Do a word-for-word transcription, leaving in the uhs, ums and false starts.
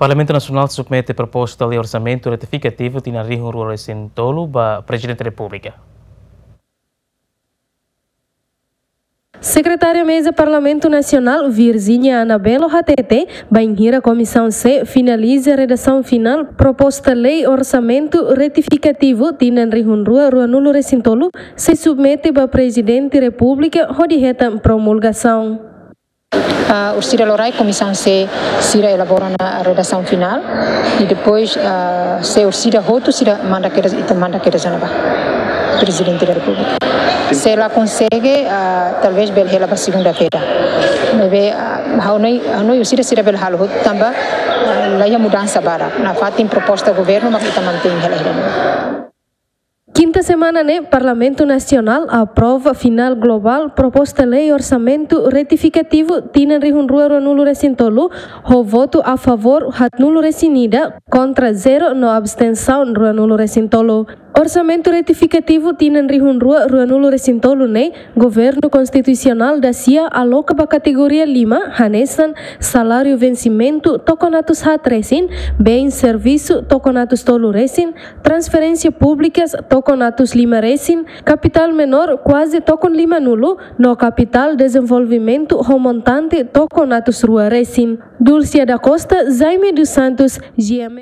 Parlamentu Nasionál submete proposta lei orsamentu retifikativu tinan rihun rua resin tolu ba Prezidente Repúblika. Sekretária Meza Parlamentu Nasionál, Virginia Anabelo, hatete, bainhira Komisaun C finaliza redasaun finál proposta lei orsamentu retifikativu tinan rihun rua rua nulu resin tolu, sei submete ba Prezidente Repúblika hodi hetan promulgasaun. Ah, orsida loraik Komisaun C sira elabora ona redasaun finál, i depois, ah, se orsida hotu sira manda kedas, ita manda kedas ona ba Prezidente da Repúblika. Se la konsege, ah, talvez bele hela ba segunda-feira. Maibé, ah, ha'u hanoin, ha'u hanoin orsida sira bele halo hotu tanba, ah, la iha mudansa barak. Nafatin proposta governu mak ita mantein hela hela. Kinta semana ne'e, Parlamentu Nasionál aprova finál globál proposta lei orsamentu retifikativu tinan rihun rua rua nulu resin tolu, ho votu a favór haat nulu resin ida, kontra zero no abstensaun rua nulu resin tolu. Orsamentu retifikativu tinan rihun rua rua nulu resin tolu ne'e, Governu Konstitusionál dasia aloka ba kategoria lima, hanesan saláriu vensimentu tokon atus haat resin, bein servisu tokon atus tolu resin, transferénsia públikas tokon atus lima resin, kapitál menór kuaze tokon lima nulu, no kapitál dezenvolvimentu ho montante tokon atus rua resin. Dulcia da Costa, Jaime dos Santos, G M.